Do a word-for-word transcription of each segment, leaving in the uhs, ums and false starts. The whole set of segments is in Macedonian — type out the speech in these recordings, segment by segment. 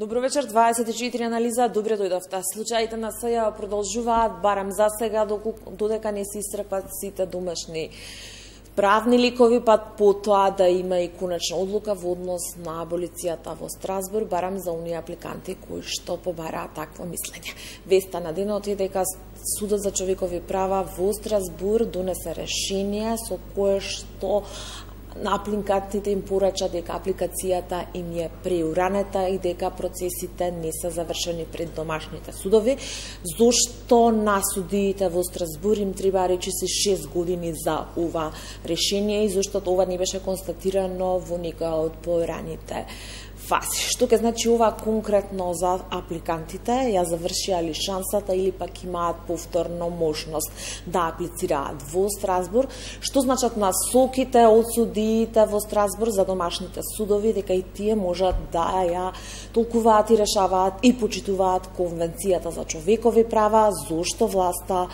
Добро вечер, дваесет и четири анализа, добре дојдовте. Случаите на СЈ продолжуваат, барем за сега, додека не се исцрпат сите домашни правни ликови, па потоа да има и конечна одлука во однос на аболицијата во Страсбург, барем за оние апликанти кои што побараат такво мислење. Веста на денот е дека Судот за човекови права во Страсбург донесе решение со кое што на апликантите им порача дека апликацијата им е преуранета и дека процесите не се завршени пред домашните судови, зошто на судиите во Страсбург им треба речиси шест години за ова решение и зашто ова не беше констатирано во некоја од пораните фази. Што ке значи ова конкретно за апликантите? Ја завршија ли шансата или пак имаат повторно можност да аплицираат во Страсбург? Што значат насоките од судиите во Страсбург за домашните судови, дека и тие можат да ја толкуваат и решаваат и почитуваат Конвенцијата за човекови права, зошто власта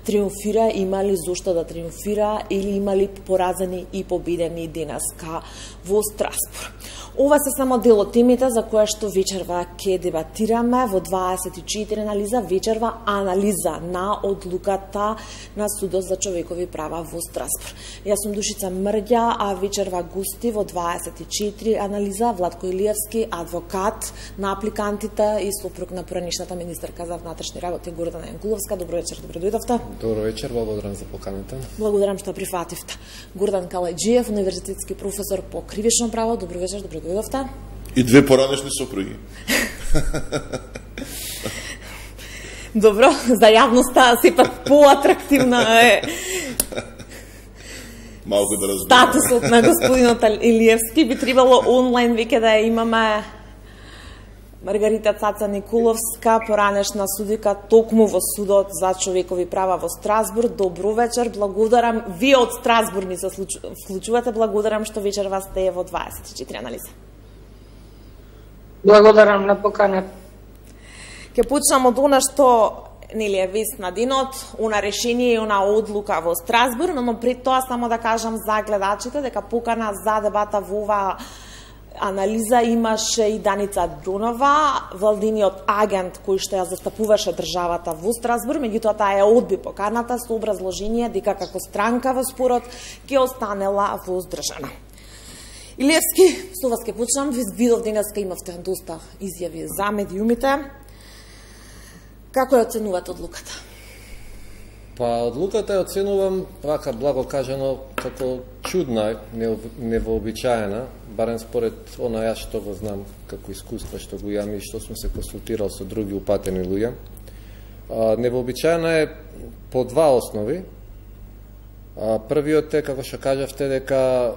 триумфира, има ли зошто да триумфира или има ли поразени и победени денеска во Страсбург. Ова се само дел од темите за која што вечерва ќе дебатираме во дваесет и четири анализа, вечерва анализа на одлуката на Судот за човекови права во Страсбург. Јас сум Душица Мрѓа, а вечерва гости во дваесет и четири анализа Владко Илиевски, адвокат на апликантите и сопруг на поранишната министерка за внатрешни работи Гордана Јанкуловска. Добро вечер, добро дојдовте. Добро вечер, благодарам за поканата. Благодарам што прифативте. Гордан Калајџиев, универзитетски професор по кривично право. Добро вечер, добро дојдовте. И две поранешни сопруги. Добро, за јавноста сепак поатрактивна е малку да разберам. Статусот на господинот Илиевски би требало онлайн веќе да имаме Маргарита Цаца Николовска, поранешна судика токму во Судот за човекови права во Страсбург. Добро вечер, благодарам. Вие од Страсбург ни се вклучувате, благодарам што вечерва сте во дваесет и четири анализа. Благодарам на поканата. Ке почнам од она што нели е вест на денот, она решение и она одлука во Страсбург, но пред тоа само да кажам за гледачите дека покана за дебата во ова анализа имаше и Даница Дронова, владиниот агент кој што ја застапуваше државата во Страсбург, меѓутоа таа ја одби поканата со образложение дека како странка во спорот ќе останела воздржана. Илиевски, со вас ке почнам, видов денеска имавте доста изјави за медиумите. Како ја оценувате одлуката? Па, одлуката ја оценувам, вака благо кажано, како чудна, невообичаена, барем според она јас што го знам како искуство што го имам и што сум се консултирал со други упатени луѓе. Невообичаена е по два основи. А, првиот е, како што кажавте, дека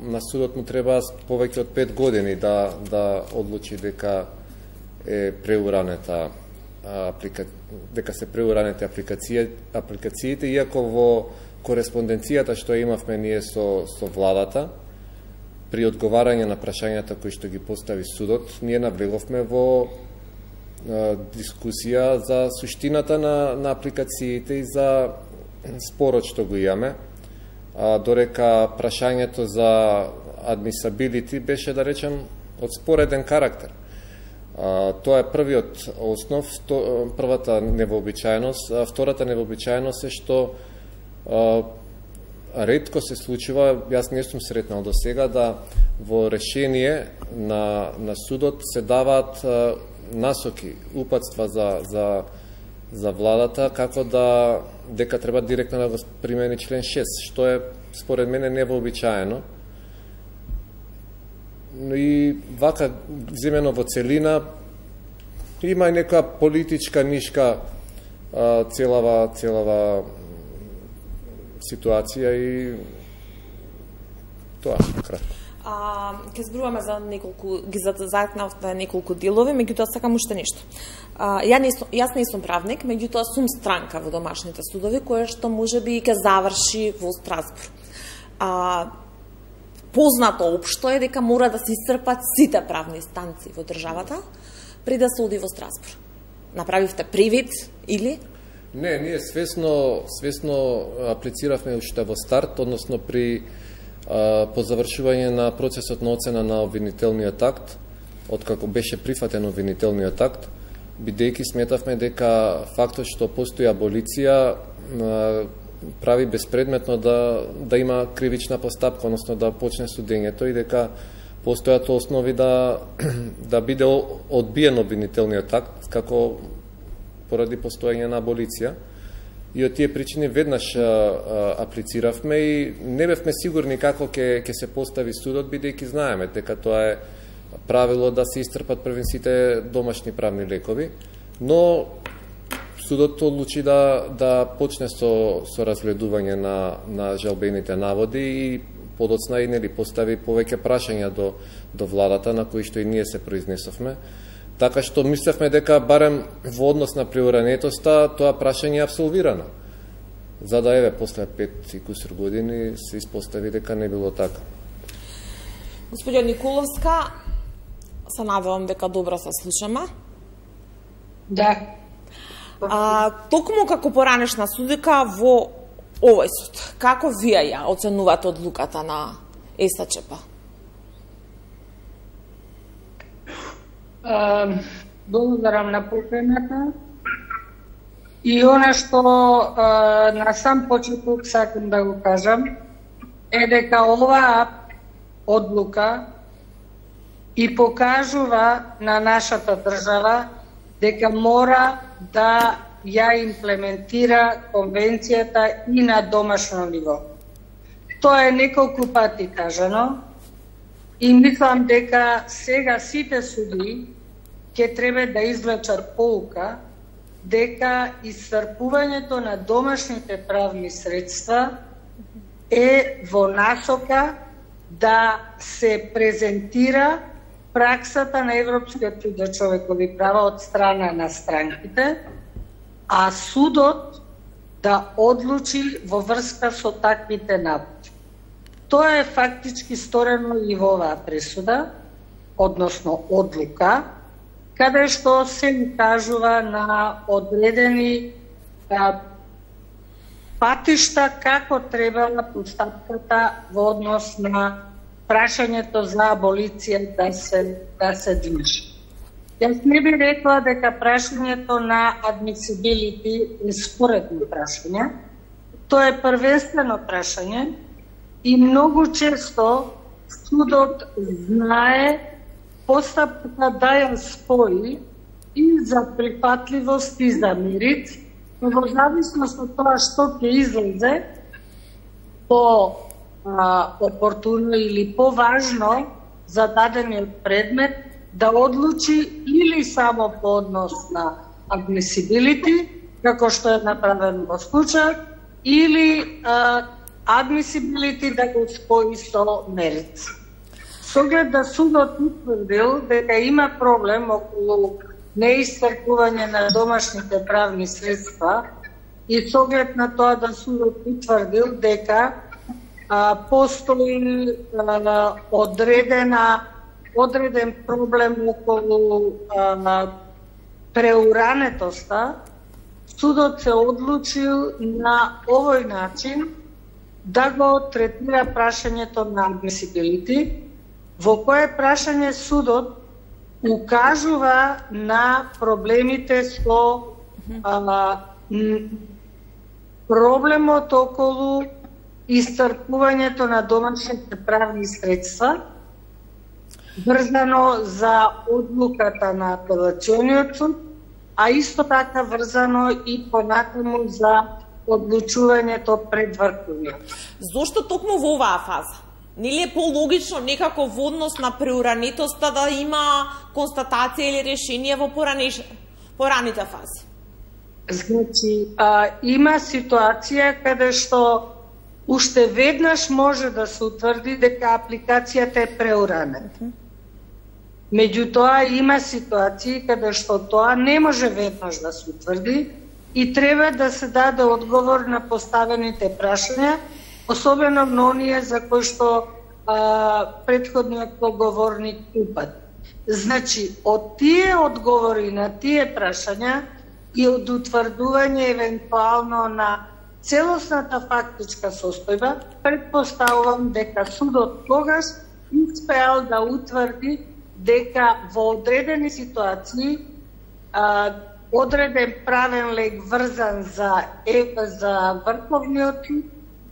на судот му треба повеќе од пет години да, да одлучи дека е преуранета аплика... дека се преуранете апликација... апликациите, иако во кореспонденцијата што имавме ние со, со владата, при одговарање на прашањата кои што ги постави судот, ние навлеговме во а, дискусија за суштината на, на апликациите и за спорот што го имаме, а, дорека прашањето за адмисабилити беше, да речем, од спореден карактер. А, тоа е првиот основ, то, првата невообичаеност, а втората невообичаеност е што а, ретко се случува, јас не сум сретнал до сега, да во решение на, на судот се даваат а, насоки, упатства за, за, за владата, како да, дека треба директно да го примени член шест, што е според мене невообичаено. И вака, земено во целина, има и нека политичка нишка а, целава, целава ситуација и тоа, кратко. А, ке зборуваме за неколку, ги затекнавте неколку делови, меѓутоа сакам уште нешто. А, ја не, јас не сум правник, меѓутоа сум странка во домашните судови, кое што можеби ќе заврши во Страсбург. А, познато општо е дека мора да се исцрпат сите правни станции во државата пред да се оди во Страсбург. Направивте привид или? Не, ние свесно, свесно аплициравме уште во старт, односно при а, по завршување на процесот на оцена на обвинителниот акт, откако беше прифатен обвинителниот акт, бидејќи сметавме дека фактот што постои аболиција прави безпредметно да, да има кривична постапка, односно да почне судењето и дека постојат основи да, да биде одбиен обвинителниот акт, како поради постојање на аболиција. И од тие причини веднаш а, а, аплициравме и не бевме сигурни како ќе ќе се постави судот, бидејќи знаеме дека тоа е правило да се истрпат првен сите домашни правни лекови, но судот одлучи да да почне со со разгледување на на жалбените наводи и подоцна и нели постави повеќе прашања до до владата на кои што и ние се произнесовме. Така што мислевме дека барем во однос на приуранетоста тоа прашање е абсолвирано. За да еве после пет и кусур години се испостави дека не било така. Господја Николовска, се надевам дека добро се слушаме. Да. А, токму како поранешна судика во овој суд, како вие ја оценувате одлуката на ЕСЧП? Uh, благодарам на поканата. И она што uh, на сам почеток сакам да го кажам е дека оваа одлука и покажува на нашата држава дека мора да ја имплементира конвенцијата и на домашно ниво. Тоа е неколку пати кажано и мислам дека сега сите суди ќе треба да извлечат поука дека исцрпувањето на домашните правни средства е во насока да се презентира праксата на Европскиот суд за човекови права од страна на странките, а судот да одлучи во врска со таквите наводи. Тоа е фактички сторено и во оваа пресуда, односно одлука, каде што се кажува на одредени а, патишта како требала постапката во однос на прашањето за аболиција да се, да се движи. Јас не би рекла дека прашањето на admissibility е споредно прашање. Тоа е првенствено прашање и многу често судот знае постапката да ја спои и за прифатливост и за мерит, но во зависност од тоа што ќе излезе по а, опортуно или поважно за дадениот предмет, да одлучи или само по однос на admissibility, како што е направено во случај, или а, admissibility да го спои со мерит. С оглед да судот утврдил дека има проблем околу неисцрпување на домашните правни средства и с оглед на тоа да судот утврдил дека а, постои а, одредена одреден проблем околу а, преуранетоста, судот се одлучил на овој начин да го третира прашањето на admissibility, во кое прашање судот укажува на проблемите со а, проблемот околу исцрпувањето на домашните правни средства, врзано за одлуката на апелациониот суд, а исто така врзано и понатаму за одлучувањето пред Врховниот. Зошто токму во оваа фаза? Нели е пологично некако во однос на преуранетоста да има констатација или решение во поранеш... пораните фази? Значи, а, има ситуација каде што уште веднаш може да се утврди дека апликацијата е преуранета. Меѓутоа, има ситуации каде што тоа не може веднаш да се утврди и треба да се даде одговор на поставените прашања, особено на оние за кои што а, предходниот поговорник упат. Значи, од тие одговори на тие прашања и од утврдување евентуално на целосната фактичка состојба, предпоставувам дека судот тогаш успеал да утврди дека во одредени ситуации а, одреден правен лек врзан за, е, за врховниот суд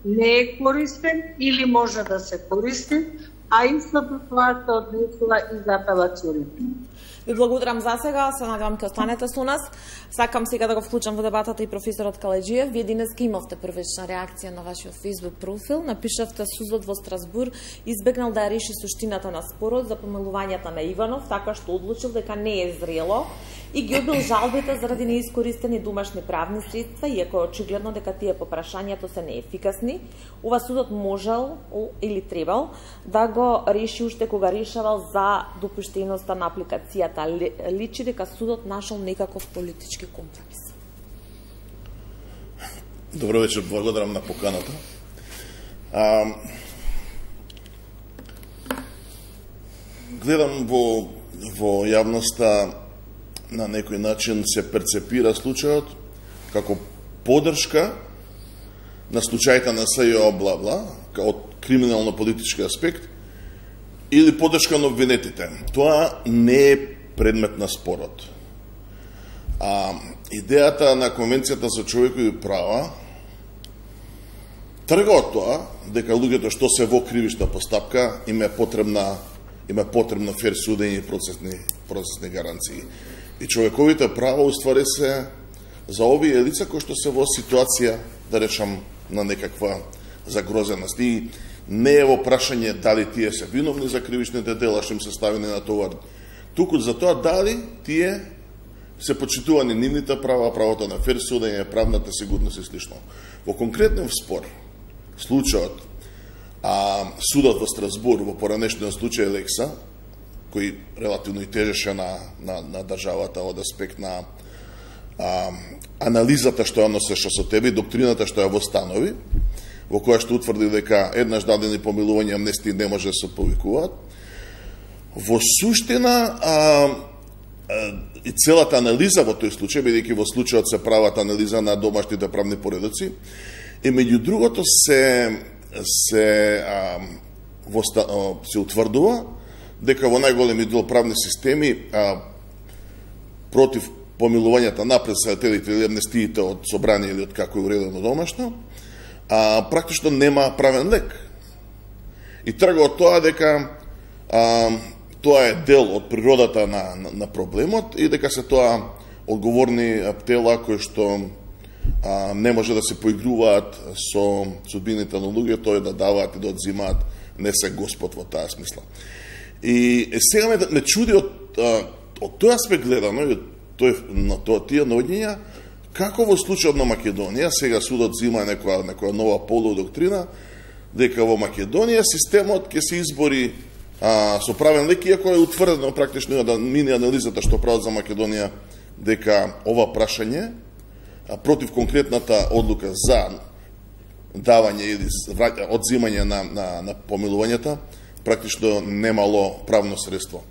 не е користен или може да се користи, а истото тоа се однесува и за апелацијните. Ви благодарам за сега, се надевам ке останете со нас. Сакам сега да го вклучам во дебатата и професорот Калеџиев. Вие денеска имавте првична реакција на вашиот Facebook профил. Напишавте судот во Страсбур избегнал да ја реши суштината на спорот за помилувањата на Иванов, така што одлучил дека не е зрело и ги одбил жалбите заради неискористени домашни правни средства, иако е очигледно дека тие по прашањето се неефикасни. Ова судот можел или требал да го реши уште кога решавал за допуштеноста на апликацијата. Личи дека судот нашол некаков политички компромис. Добро вечер, благодарам на поканата. А, гледам во, во јавноста на некој начин се перцепира случајот како поддршка на случајите на СЈО бла-бла, од криминално-политички аспект, или поддршка на обвинетите. Тоа не е предмет на спорот. А, идејата на Конвенцијата за човекови права трга од тоа дека луѓето што се во кривична постапка им е потребна им е потребно фер судење и процесни процесни гаранции. И човековите права уствари се за овие лица кои што се во ситуација, да речам, на некаква загрозеност. И не е во прашање дали тие се виновни за кривичните дела што им се ставени на товар, туку за тоа дали тие се почитувани нивните права, правото на фер судење, правната сигурност и слично. Во конкретен спор, случајот, а, судот во Страсбур, во поранешниот случај Лекса, кој релативно и тежеше на, на, на државата од аспект на а, анализата што ја носеше со тебе и доктрината што ја востанови, во која што утврди дека еднаш дадени помилување амнестии не може да се повикуваат. Во суштина а, а, и целата анализа во тој случај, бидејќи во случајот се прават анализа на домашните правни поредоци, и меѓу другото се се а, во, а, се утврдува дека во најголеми дел правни системи а, против помилувањата напред сајателите или амнестиите од собрание или од како е уредено домашно, а, практично нема правен лек. И трга од тоа дека а, тоа е дел од природата на, на, на проблемот и дека се тоа одговорни тела кои што а, не може да се поигруваат со судбините на луѓето и да даваат и да одзимаат, не се Господ во таа смисла. И сега ме, ме чуди од, од тој аспект гледано и од тој, на тоа тие наоѓања, како во случајот на Македонија, сега судот зима некоја, некоја нова полудоктрина, дека во Македонија системот ќе се избори а, со правен лек, иако е утврдено практично да мини анализата што прават за Македонија, дека ова прашање а, против конкретната одлука за давање или одзимање на, на, на помилувањата, практично немало правно средство.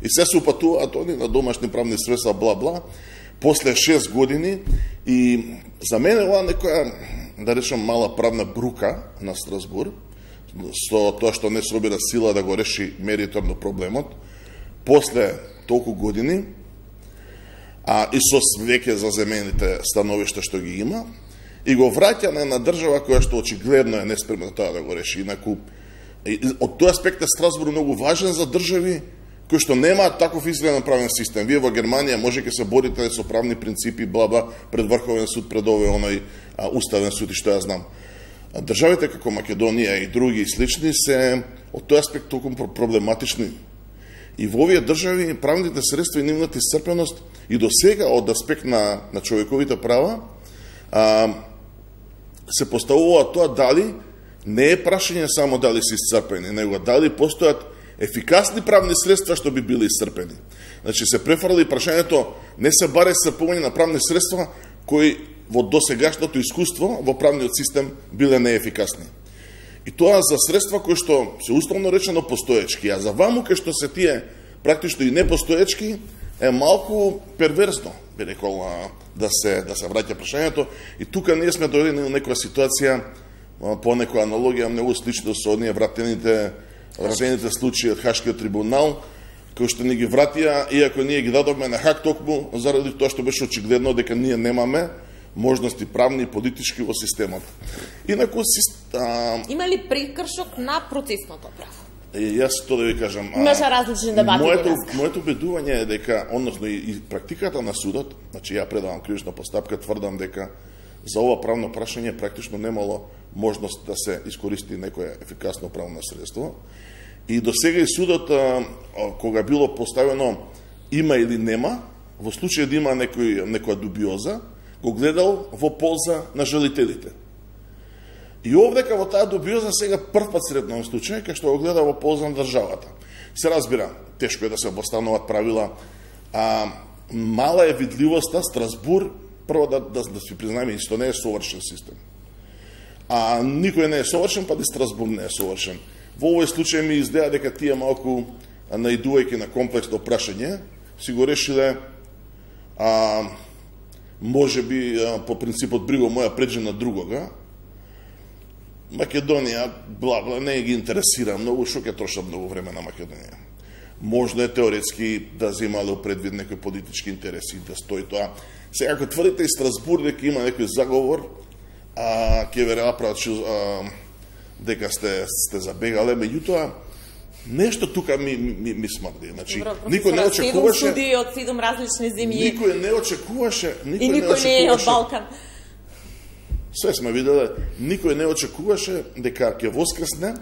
И се се упатуваат они на домашни правни средства, бла-бла, после шест години, и за мене ова некоја, да речам, мала правна брука на Страсбур, со тоа што не собира сила да го реши мериторно проблемот, после толку години, а и со веќе заземените становишта што ги има, и го враќање на држава која што очигледно е неспремна тоа да го реши. Инаку, од тој аспект е Страсбур многу важен за држави кои што немаат таков изгледен правен систем. Вие во Германија може ќе се борите со правни принципи, блаба, пред Врховен суд, пред овој оној а, уставен суд и што ја знам. А државите како Македонија и други и слични се од тој аспект толку проблематични. И во овие држави правните средства и нивната исцрпеност и до сега од аспект на, на човековите права а, се поставува тоа дали не е прашање само дали се исцрпени, него дали постојат ефикасни правни средства што би били исцрпени. Значи се префрли прашањето не се баре исцрпување на правни средства кои во досегашното искуство во правниот систем биле неефикасни. И тоа за средства кои што се условно речено постоечки, а за ваму кај што се тие практично и непостоечки е малку перверзно, би рекол, да се да се враќа прашањето. И тука ние сме дојдени на некоја ситуација по некоја аналогија многу слично со оние вратените вратените случаи од Хашкиот трибунал, кои што ни ги вратија, иако ние ги дадовме на хак токму, заради тоа што беше очигледно дека ние немаме можности правни и политички во системот. Инаку, а... има ли прекршок на процесното право? И јас тоа да ви кажам. Имаше различни дебати. Моето, моето убедување е дека, односно и, и практиката на судот, значи ја предавам кривична постапка, тврдам дека за ова правно прашање практично немало можност да се искористи некое ефикасно правно средство. И до сега и судот, а, кога било поставено има или нема, во случај да има некој, некоја дубиоза, го гледал во полза на жалителите. И овдека во таа дубиоза сега прв пат сретнам случај, кај што го гледа во полза на државата. Се разбира, тешко е да се постановат правила, а мала е видливоста, Страсбур, прво да, да, да си признаеме, исто не е совршен систем. А никој не е совршен, па и Страсбур не е совршен. Во овој случај ми издеа дека тие малку наидувајќи на комплексно прашање, си го решиле, а, може би а, по принципот бриго моја преđе на другога. Македонија, бла, бла, не ги интересира многу, шо ќе троша многу време на Македонија. Можно е теоретски да земале предвид некои политички интереси, да стои тоа. Сега, ако тврдите и Страсбур дека има некој заговор, а, ќе веројатно прават дека сте, сте забегале, меѓутоа, нешто тука ми, ми, ми смрди. Значи, Добро, никој не очекуваше... седум суди од седум различни земји. Никој не очекуваше... Никој и никој не, не е од Балкан. Све сме виделе, никој не очекуваше дека ќе воскресне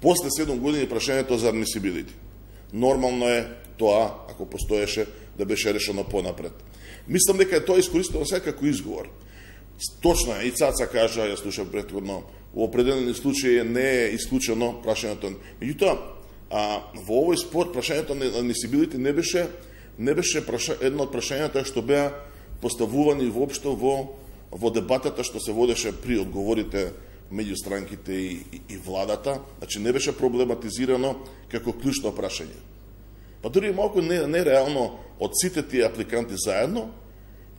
после седум години прашањето за адмисибилити. Нормално е тоа, ако постоеше, да беше решено понапред. Мислам дека е тоа искористено сега како изговор. Точно е, и Цаца кажа, ја слушам претходно, во определени случаи не е исклучено прашањето. Меѓутоа, а во овој спор прашањето на адмисибилити не беше не беше праша, едно од прашањата што беа поставувани воопшто во во дебатата што се водеше при одговорите меѓу странките и, и, и владата, значи не беше проблематизирано како клучно прашање. Па дури малку не, не реално од сите тие апликанти заедно,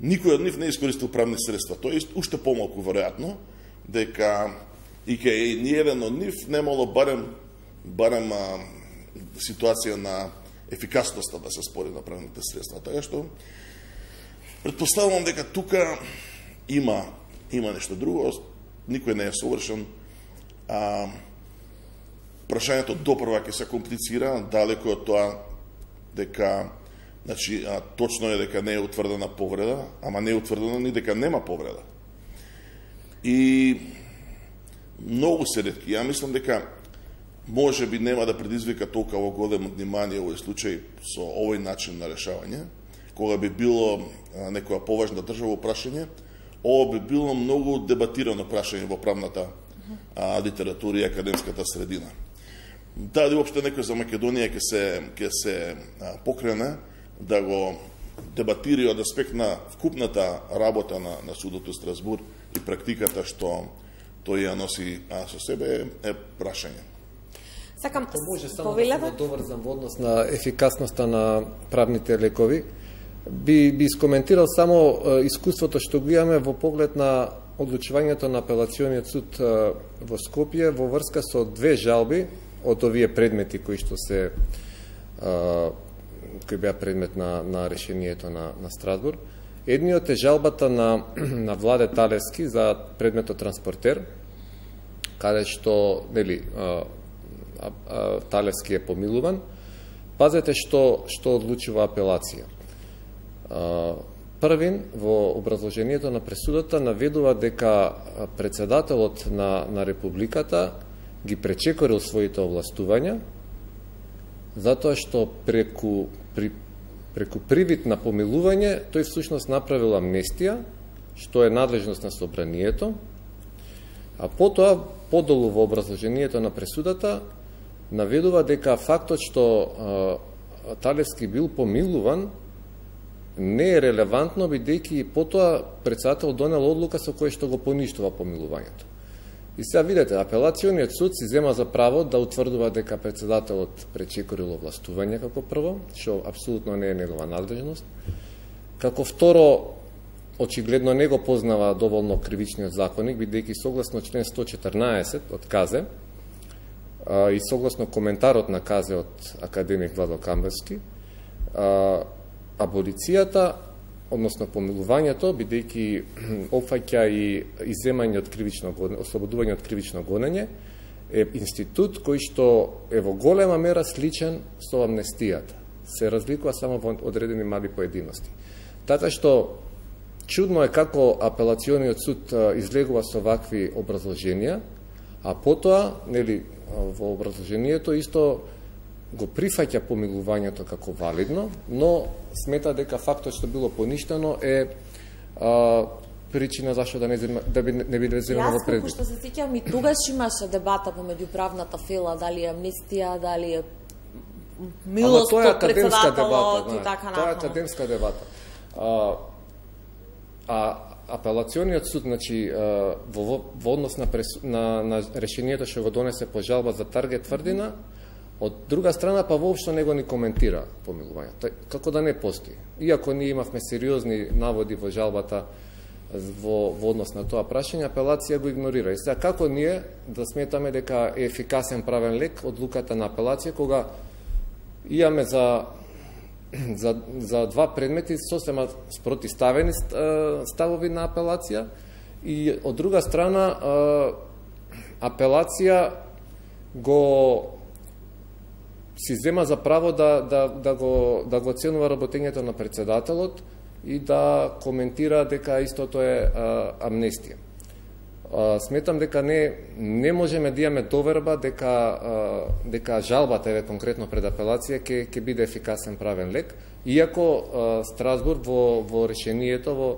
никој од нив не искористил правни средства. Тоа е уште помалку веројатно дека и кај ни еден од нив немало барем барем а, ситуација на ефикасноста да се спори на правните средства. Така што претпоставувам дека тука има има нешто друго, никој не е совршен. А прашањето допрва ќе се комплицира, далеко од тоа дека значи а, точно е дека не е утврдена повреда, ама не е утврдено ни дека нема повреда. И многу се ретки. Ја мислам дека може би нема да предизвика толкова големо внимание овој случај со овој начин на решавање, кога би било а, некоја поважна држава прашање, ова би било многу дебатирано прашање во правната а, литература и академската средина. Дали уопште некој за Македонија ќе се ќе се а, покрене да го дебатира од аспект на вкупната работа на, на судот у Страсбур и практиката што тој ја носи а, со себе е прашање. Сакам може само да се доврзам во однос на ефикасноста на правните лекови. Би, би искоментирал само е, искуството што го имаме во поглед на одлучувањето на апелациониот суд е, во Скопје во врска со две жалби од овие предмети кои што се е, кои беа предмет на, на решението на, на Страсбур. Едниот е жалбата на, на Владе Талевски за предметот транспортер, каде што нели, а, а, а, Талевски е помилуван. Пазете што, што одлучува апелација. А, првин во образложението на пресудата наведува дека председателот на, на Републиката ги пречекорил своите овластувања, затоа што преку, при, преку привид на помилување, тој всушност направил амнестија, што е надлежност на собранието, а потоа, подолу во образложението на пресудата, наведува дека фактот што а, Талевски бил помилуван, не е релевантно, бидејќи потоа председател донел одлука со која што го поништува помилувањето. И сега видите, апелациониот суд си зема за право да утврдува дека председателот пречекорил овластување како прво, што апсолутно не е негова надлежност. Како второ, очигледно не го познава доволно кривичниот законник, бидејќи согласно член сто четрнаесет од КАЗЕ, а, и согласно коментарот на Казе од академик Владо Камбарски, а, аболицијата, односно помилувањето, бидејќи опфаќа и иземање од кривично гонење, ослободување од кривично гонење, е институт кој што е во голема мера сличен со амнестијата. Се разликува само во одредени мали поединости. Така што чудно е како апелациониот суд излегува со вакви образложенија, а потоа, нели, во образложението исто го прифаќа помилувањето како валидно, но смета дека фактот што било поништено е а, причина зашто да не да би не биде земено во предвид. Јас што се сеќавам и тогаш имаше дебата помеѓу правната фела, дали е амнестија, дали е милост од председателот и така натаму. Тоа е академска дебата. А, а апелациониот суд, значи, во, во однос на, прес, на, на решението што го донесе по жалба за таргет тврдина, од друга страна па воопшто не го ни коментира помилувањето. Како да не постои. Иако ние имавме сериозни наводи во жалбата во, во однос на тоа прашање, апелација го игнорира. И сега како ние да сметаме дека е ефикасен правен лек одлуката на апелација, кога имаме за За, за два предмети сосема спротиставени ставови на апелација и од друга страна апелација го си зема за право да, да, да, го, да го оценува работењето на председателот и да коментира дека истото е а, амнестија. А, сметам дека не, не можеме да имаме доверба дека, а, дека жалбата, еве конкретно пред апелација, ќе ќе биде ефикасен правен лек, иако а, Страсбург во, во решението, во,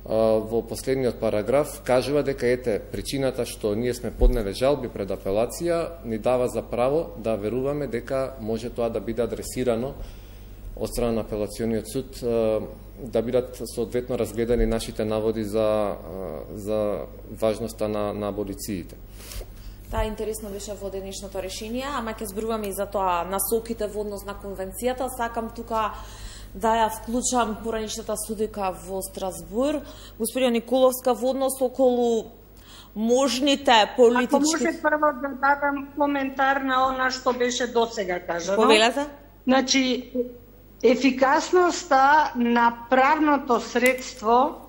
а, во последниот параграф, кажува дека ете, причината што ние сме поднеле жалби пред апелација, ни дава за право да веруваме дека може тоа да биде адресирано од страна на апелациониот суд, да бидат соодветно разгледани нашите наводи за, за важноста на, на аболициите. Таа интересно беше во денешното решение, ама ќе зборуваме и за тоа насоките во однос на конвенцијата. Сакам тука да ја вклучам поранишната судика во Страсбург, господина Николовска, во однос околу можните политички... Ако може прво да дадам коментар на она што беше досега кажано. Повелете? Значи, ефикасноста на правното средство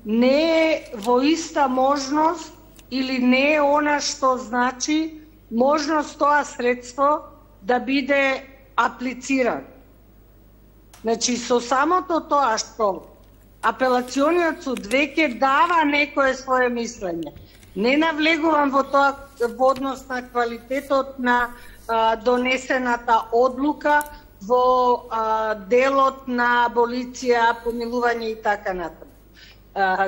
не е во иста можност или не е она што значи можност тоа средство да биде аплицирано. Значи, со самото тоа што апелациониот суд веќе дава некое свое мислење. Не навлегувам во тоа во однос на квалитетот на а, донесената одлука, во а, делот на аболиција, помилување и така натаму.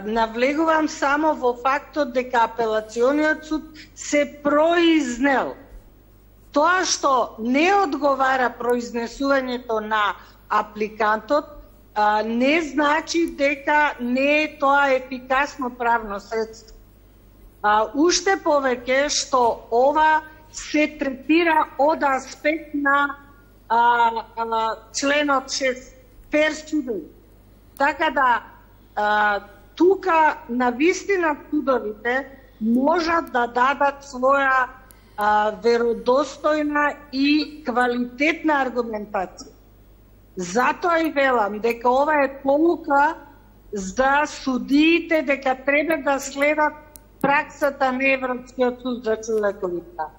Навлегувам само во фактот дека апелациониот суд се произнел. Тоа што не одговара произнесувањето на апликантот, а, не значи дека не е тоа ефикасно правно средство. А, уште повеќе што ова се третира од аспект на А, а, членот шест, фер судови. Така да, а, тука на вистина судовите можат да дадат своја а, веродостојна и квалитетна аргументација. Затоа и велам дека ова е полука за судиите дека треба да следат праксата на Европскиот суд за човекови права.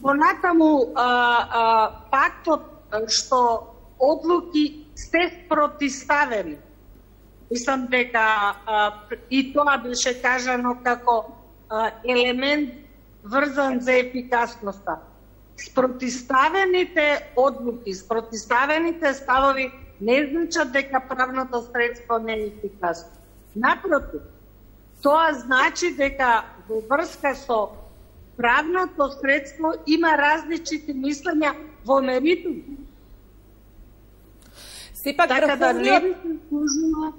Понатаму, а, а, фактот што одлуки се спротиставени. Мислам дека а, и тоа беше кажано како а, елемент врзан за ефикасноста. Спротиставените одлуки, спротиставените ставови не значат дека правното средство не е ефикасно. Напротив, тоа значи дека во врска со правното средство има различити мислења во меритум. Сепак така врховниот... да не би се служила...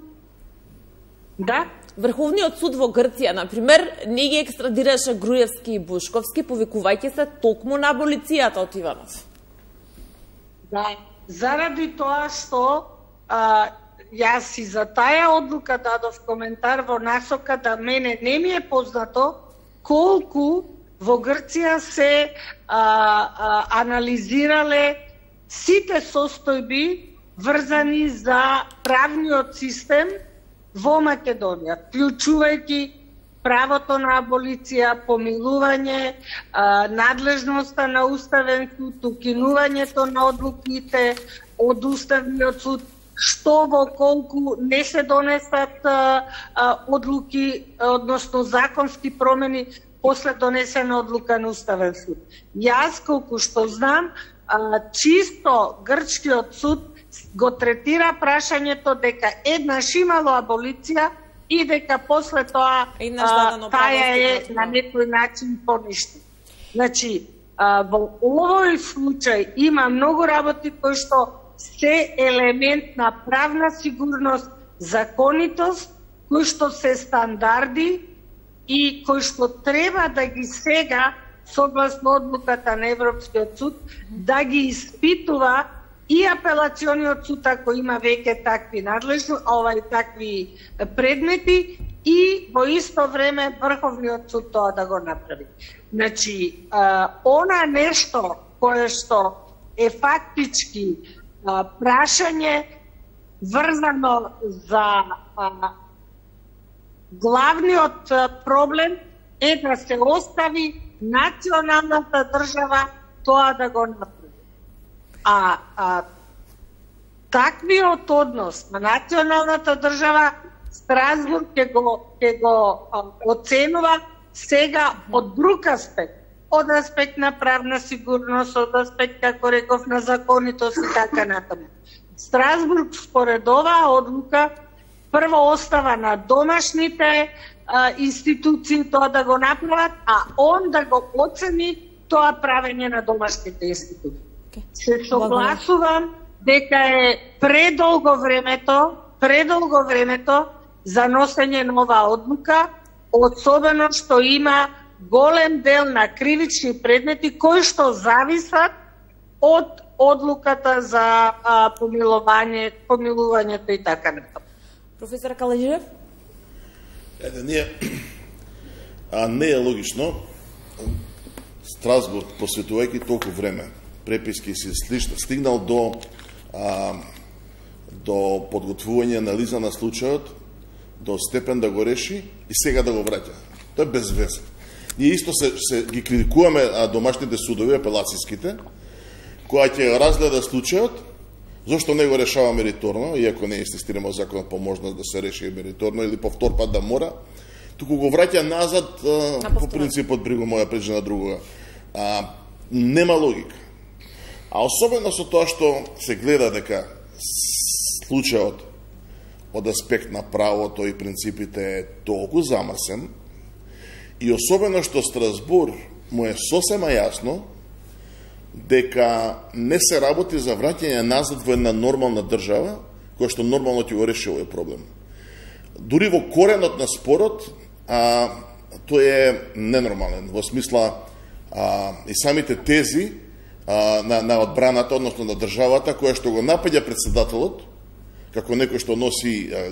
Да? Врховниот суд во Грција, например, не ги екстрадираше Груевски и Бушковски, повикувајќи се токму на аболицијата од Иванов. Да, заради тоа што а, јас и за таа одлука дадов коментар во насока да мене не ми е познато колку во Грција се а, а, анализирале сите состојби врзани за правниот систем во Македонија, вклучувајќи правото на аболиција, помилување, а, надлежноста на Уставен суд, укинувањето на одлуките од Уставниот суд, што во колку не се донесат а, а, одлуки, односно законски промени после донесена одлука на Уставен суд. Јас, колку што знам, а, чисто грчкиот суд го третира прашањето дека еднаш имало аболиција и дека после тоа а, таја е на некој начин поништа. Значи, а, во овој случај има многу работи кои што се елемент на правна сигурност, законитост, кои што се стандарди и кои што треба да ги сега, согласно одлуката на Европскиот суд, да ги испитува и апелациониот суд, ако има веќе такви надлежни, овај такви предмети, и во исто време Врховниот суд тоа да го направи. Значи, а, она нешто кое што е фактички а, прашање врзано за а, главниот проблем е да се остави националната држава тоа да го направи. А, а таквиот однос на националната држава Страсбург ќе го, ќе го а, оценува сега од друг аспект, од аспект на правна сигурност, од аспект, како реков, на законитост и така натаму. Страсбург според оваа одлука прво остава на домашните а, институции тоа да го направат, а он да го оцени тоа правење на домашните институции. Се согласувам дека е предолго времето, предолго времето за носење на оваа одлука, особено што има голем дел на кривични предмети кои што зависат од одлуката за а, помилување, помилувањето и така натаму. Професор Каледжиев? Еде, ние, а не е логично Страсбург, посветувајќи толку време, преписки си слишно, стигнал до а, до подготвување анализа на случајот, до степен да го реши и сега да го враќа. Тоа е безвезно. Ние исто се, се ги критикуваме а, домашните судови, апелацијските, која ќе разгледа случајот, зашто не го решава мериторно, иако не инсистираме законот по можност да се реши мериторно или повтор пат да мора, туку го враќа назад а, по принципот бриго моја преđe на другога. А, нема логика. А особено со тоа што се гледа дека случајот од аспект на правото и принципите е толку замрсен, и особено што Страсбург му е сосема јасно дека не се работи за враќање назад во една нормална држава, која што нормално ќе го реши овој проблем. Дури во коренот на спорот, а, тој е ненормален, во смисла а, и самите тези а, на, на одбраната, односно на државата, која што го напаѓа председателот, како некој што носи а,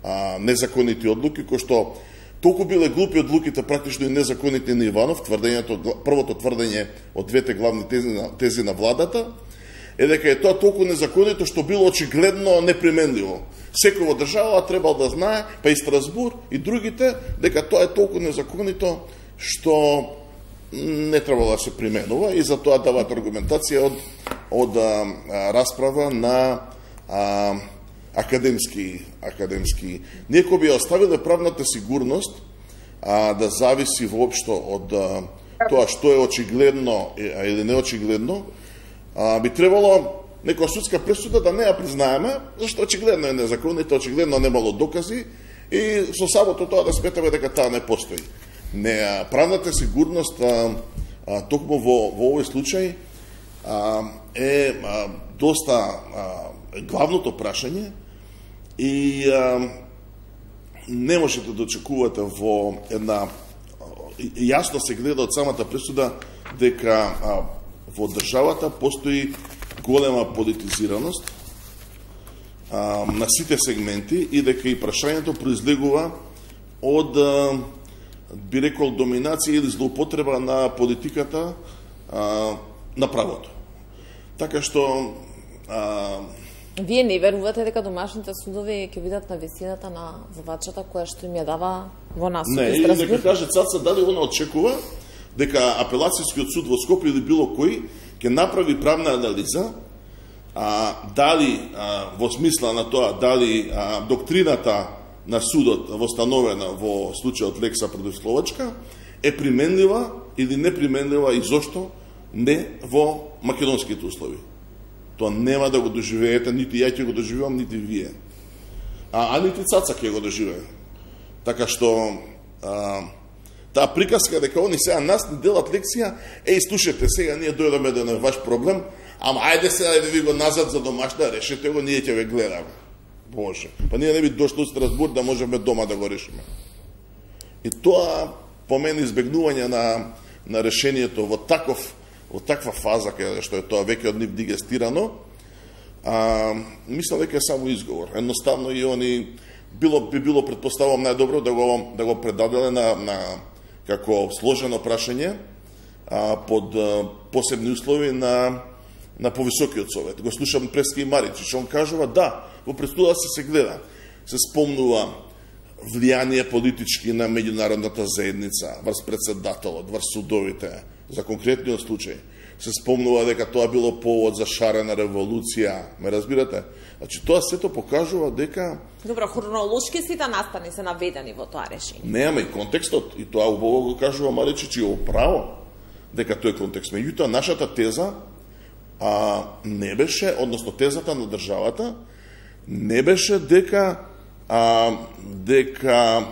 а, незаконити одлуки, кој што толку биле глупи одлуките, практично и незаконити на Иванов, тврдењето, првото тврдење од двете главни тези на, тези на владата, е дека е тоа толку незаконито што било очигледно неприменливо. Секој во држава требал да знае, па и Страсбург и другите, дека тоа е толку незаконито што не требало да се применува, и за тоа даваат аргументација од, од а, расправа на а, академски, академски. Некој би оставиле правната сигурност а, да зависи воопшто од а, тоа што е очигледно или неочигледно, а, би требало некоја судска пресуда да не ја признаеме, зашто очигледно е незаконито, очигледно немало докази, и со самото тоа да сметаме дека таа не постои. Не, правната сигурност а, а, токму во, во овој случај а, е а, доста а, главното прашање, и а, не можете да очекувате во една, јасно се гледа од самата пресуда дека а, во државата постои голема политизираност а, на сите сегменти, и дека и прашањето произлегува од а, би рекол, доминација или злоупотреба на политиката а, на правото. Така што а, Вие не верувате дека домашните судови ќе бидат на висината на задачата која што им ја дава во нас? Не, и нека каже Цаца дали она очекува дека апелацијскиот суд во Скопје или било кој ќе направи правна анализа, а, дали а, во смисла на тоа дали а, доктрината на судот востановена во случајот Лекса против Словачка е применлива или неприменлива и зошто не во македонските услови. Тоа нема да го доживеете, нити ја ќе го доживеам, нити вие. А, а нити Цаца ќе го доживее. Така што а, таа приказка дека они сега нас ни делат лекција, еј, слушате, сега ние дојдеме да не ваш проблем, ама ајде сега да ви го назад за домашна, решете го, ние ќе ве гледаме. Боже, па ние не би дошли у Страсбург да можеме дома да го решиме. И тоа по мене избегнување на, на решението во таков во таква фаза каде што е тоа веќе од нив дигестирано, а, мислам дека е само изговор. Едноставно и они било би било претпоставувам најдобро да го да го предаделе на на како сложено прашање а, под а, посебни услови на на повисокиот совет. Го слушам Прески и Маричич, он кажува да, во престуда се се гледа. Се спомнува влијание политички на меѓународната заедница, врз председателот, врз судовите, за конкретниот случај. Се спомнува дека тоа било повод за шарена револуција. Ме разбирате? Значи, тоа сето покажува дека... Добро, хронолошки сите настани се наведени во тоа решение. Неаме и контекстот, и тоа убаво го кажува Маричич и оправо, дека тој контекст. Меѓутоа, нашата теза а, не беше, односно тезата на државата, не беше дека а, дека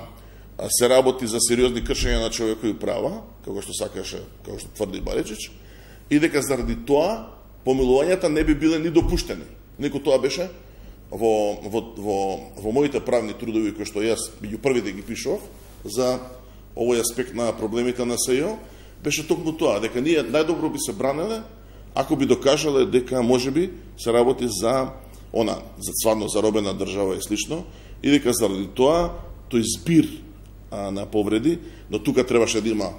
се работи за сериозни кршења на човекови права, како што сакаше, како што тврди Баричич, и дека заради тоа помилувањата не би биле ни допуштени. Неко тоа беше во, во, во, во моите правни трудови, кои што јас меѓу првите ги пишував за овој аспект на проблемите на СЈО, беше токму тоа, дека ние најдобро би се бранеле ако би докажале дека можеби се работи за она, за стварно заробена држава и слично, и дека заради тоа тој збир а, на повреди, но тука требаше да има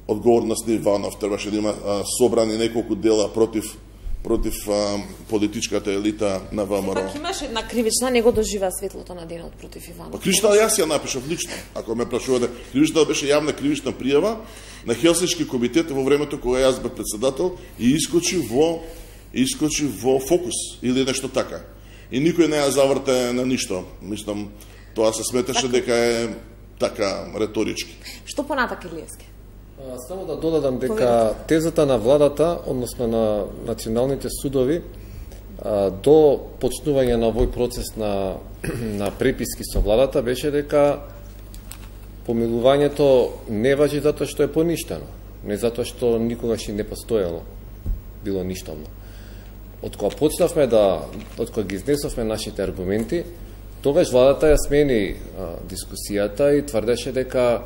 одговорност на Иванов, требаше да има а, собрани неколку дела против против а, политичката елита на ВМРО. Пак имаше една кривична, не го дожива светлото на денот против Иванов. Па кривична јас ја напишав лично, ако ме прашувате. Кривична беше јавна кривична пријава на Хелсиншки комитет во времето кога јас бев председател и искочи во искочи во фокус или нешто така. И никој не ја заврте на ништо. Мислам, тоа се сметаше так... дека е така реторички. Што понатак, Илиевски? Само да додадам дека тезата на владата, односно на националните судови, до почнување на овој процес на, на преписки со владата беше дека помилувањето не важи затоа што е поништено, не затоа што никогаш и не постоело, било ништовно. Од кога почнавме да, од кога ги изнесовме нашите аргументи, тогаш владата ја смени а, дискусијата и тврдеше дека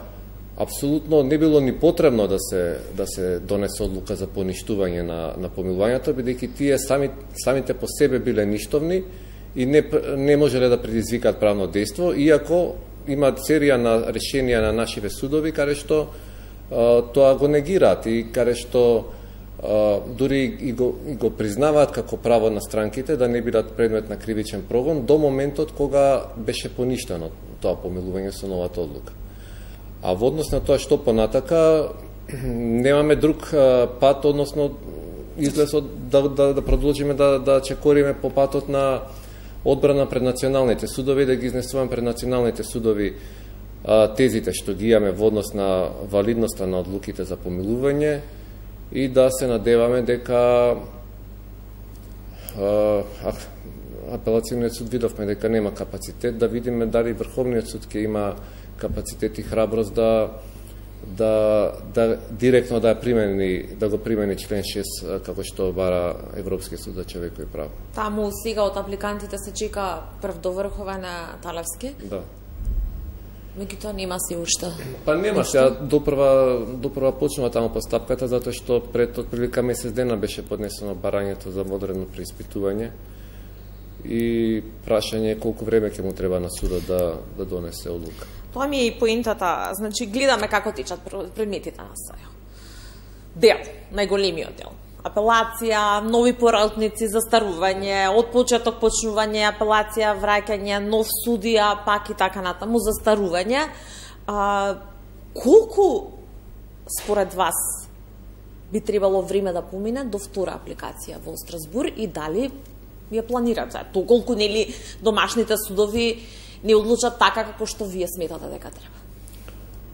апсолутно не било ни потребно да се да се донесе одлука за поништување на на помилувањето, бидејќи тие сами самите по себе биле ништовни и не не можеле да предизвикаат правно дејство, иако има серија на решенија на нашите судови каде што а, тоа го негираат и каде што а, дури и го, и го признаваат како право на странките да не бидат предмет на кривичен прогон до моментот кога беше поништено тоа помилување со новата одлука. А во однос на тоа што понатака, немаме друг а, пат, односно излез од, да, да, да продолжиме да, да чекориме по патот на одбрана пред националните судови, да ги изнесуваме пред националните судови а, тезите што ги имаме во однос на валидноста на одлуките за помилување и да се надеваме дека а, апелацијниот суд видовме дека нема капацитет, да видиме дали Врховниот суд ќе има капацитет и храброст да да да директно да примени да го примени член шест како што бара Европскиот суд за човекови права. Таму сега од апликантите се чека прв доврхова на Талевски? Да. Меѓутоа нема се уште. Па нема, сега допрва допрва почнува таму постапката затоа што пред отприлика месец дена беше поднесено барањето за одредено преиспитување и прашање колку време ќе му треба на судот да да донесе одлука. Тоа ми е и поентата, значи гледаме како течат предметите на САЈО. Дел, најголемиот дел. Апелација, нови поротници, застарување, од почеток почнување, апелација, враќање, нов судија, пак и така натаму, застарување. А, колку според вас би требало време да помине до втора апликација во Страсбур и дали ја планирате? Толку нели домашните судови не одлучат така како што вие сметате дека треба?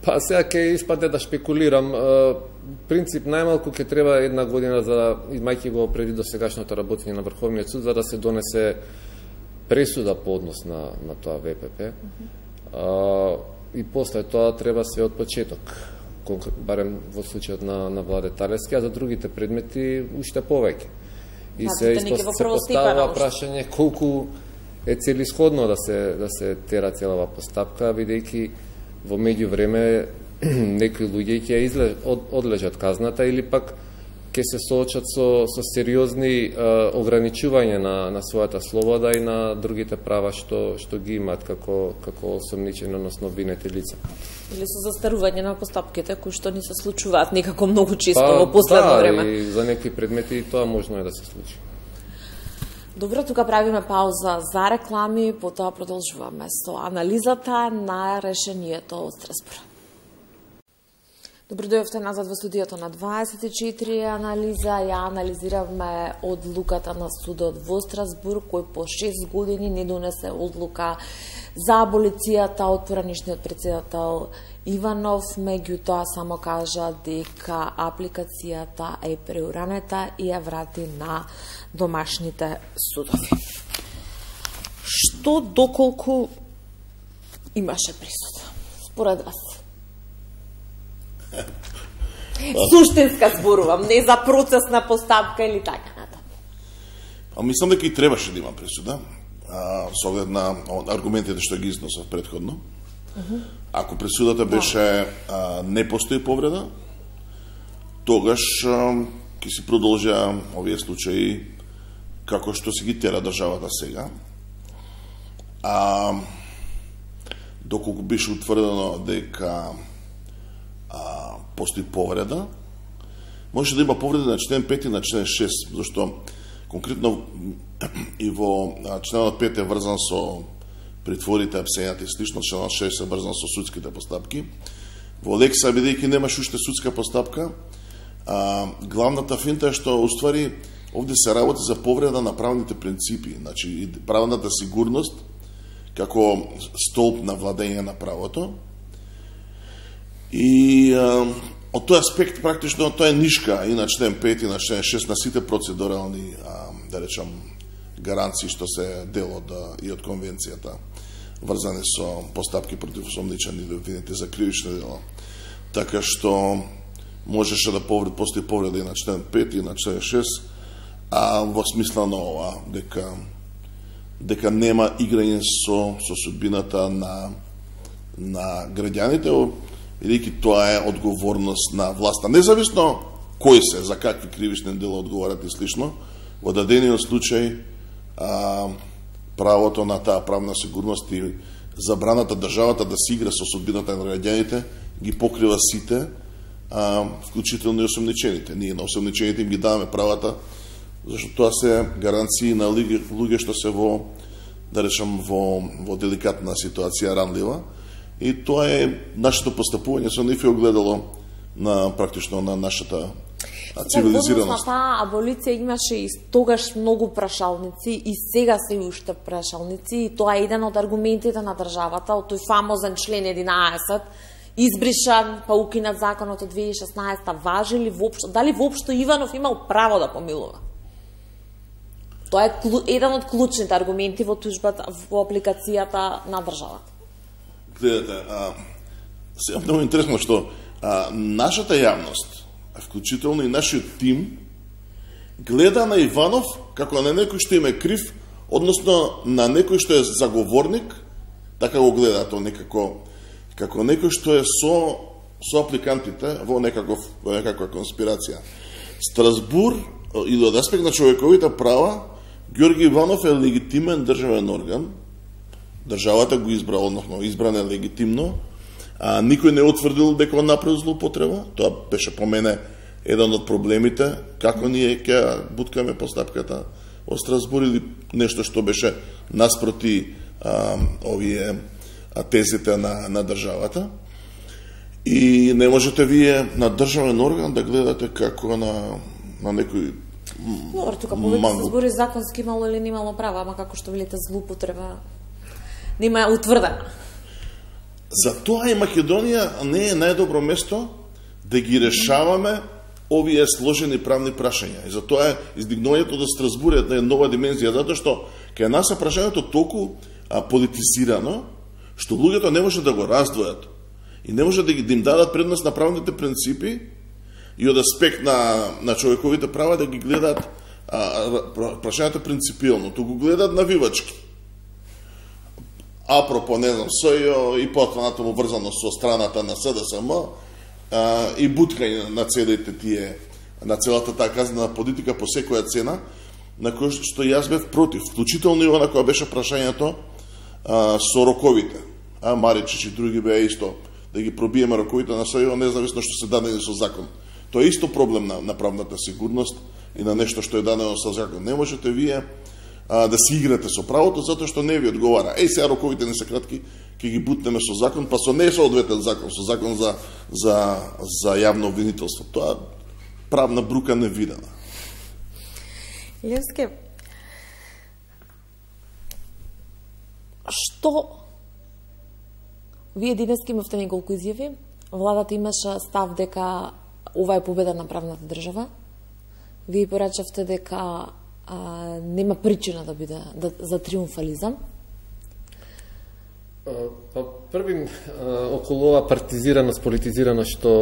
Па сега ќе испаде да шпекулирам. Принцип најмалку ќе треба една година за имајќи го преди до сегашното работење на Врховниот суд за да се донесе пресуда по однос на на тоа В П П. Mm-hmm. а, и после тоа треба се од почеток, барем во случајот на на Владе Талевски, а за другите предмети уште повеќе. И се поставува прашање колку е целисходно да се да се тера целава постапка, бидејќи во меѓувреме некои луѓе ќе изле, од, одлежат казната или пак ќе се соочат со, со сериозни е, ограничување на, на својата слобода и на другите права што, што ги имаат како, како осомничени, односно обвинети лица. Или со застарување на постапките, кои што ни се случуваат некако многу често па, во последно да, време. Да, и за некои предмети тоа можно е да се случи. Добро, тука правиме пауза за реклами, потоа продолжуваме со анализата на решението од Страсбур. Добро дојавте назад во студиото на дваесет и четири анализа. Ја анализиравме одлуката на судот во Страсбур, кој по шест години не донесе одлука за аболицијата од поранишниот председател Иванов, меѓутоа само кажа дека апликацијата е преуранета и ја врати на домашните судови. Што доколку имаше присуда, според вас? Суштинска зборувам, не за процесна постапка или така натаму. А мислам дека и требаше да има присуда, а, со оглед на аргументите што ги износов претходно. Uh-huh. Ако присудата беше а, не постои повреда, тогаш а, ќе си продолжа овие случаи како што се ги тера државата сега. А доколку беше утврдено дека а, постои повреда, може да има повреда на член пет и на член шест, зашто конкретно и во членот пет е врзан со притворите, апсењата и слично, членот шест е врзан со судските постапки. Во Лекса, бидејќи немаш уште судска постапка, а, главната финта е што уствари овде се работи за повреда на правните принципи, значи правната сигурност како столб на владење на правото. И а, од тој аспект практично тоа е нишка и на член пет и на член шест на сите процедурални, а, да речам, гаранции што се дел од и од конвенцијата врзани со постапки против осомничени или обвинети за кривични дела. Така што можеше да повред, постои повреда и на член пет и на член шест, а во смисла на ова дека дека нема играње со со судбината на на граѓаните, бидејќи тоа е одговорност на власта. Независно кој се, за какви кривични дела одговарат и слично, во дадениот случај а, правото на таа правна сигурност и забраната државата да се игра со судбината на граѓаните ги покрива сите, а, вклучително и осомничените. Ние на осомничените им ги даваме правата, зашто тоа се гаранции на луѓе што се во, да речам, во, во деликатна ситуација, ранлива. И тоа е нашето постапување со нив е огледало на практично на нашата цивилизираност. На таа аболиција имаше и тогаш многу прашалници и сега се уште прашалници и тоа е еден од аргументите на државата од тој фамозен член единаесет избришан, па укинат законот од две илјади и шеснаесета, важи ли воопшто, дали воопшто Иванов имал право да помилува? Тоа е еден од клучните аргументи во тужбата, во апликацијата на државата. Гледате, а, се много интересно што а, нашата јавност, вклучително и нашиот тим, гледа на Иванов како на некој што им е крив, односно на некој што е заговорник, така го гледа тоа некако, како некој што е со, со апликантите во, некаков, во некаква конспирација. Страсбур, или од аспект на човековите права, Георги Иванов е легитимен државен орган, државата го избра, односно избран е легитимно, А, никој не утврдил дека он направил злоупотреба. Тоа беше по мене еден од проблемите, како ние ќе буткаме постапката од Страсбур или нешто што беше наспроти а, овие а, тезите на, на државата. И не можете вие на државен орган да гледате како на, на некој Добро, тука повеќе се збори законски имало или немало права, ама како што велите злоупотреба нема утврдена. Затоа и Македонија не е најдобро место да ги решаваме овие сложени правни прашања. И затоа е издигнувањето до Страсбур е една нова димензија, затоа што кај нас е прашањето толку а, политизирано, што луѓето не може да го раздвојат и не може да ги да им дадат предност на правните принципи и од аспект на, на човековите права да ги гледаат прашањата принципиално, туку гледаат навивачки. Апропо, не знам, СЈО и потваната му врзано со страната на СДСМ а, и буткање на целите тие, на целата таа казнена политика по секоја цена, на кој што јас бев против, вклучително и она која беше прашањето а, со роковите. А Маричич и други беа исто да ги пробиеме роковите на СЈО, независно што се дадени со закон. Тоа е исто проблем на, на правната сигурност и на нешто што е дадено со закон. Не можете вие а, да си играте со правото, затоа што не ви одговара. Еј, сега роковите не се кратки, ќе ги бутнеме со закон, па со не соодветен закон, со закон за, за, за јавно обвинителство. Тоа правна брука невидена. Левски, што вие денеска имавте неколку изјави, владата имаше став дека ова е победа на правната држава. Вие порачавте дека а, нема причина да биде да, за триумфализам. Па први околу ова партизираност, политизираност што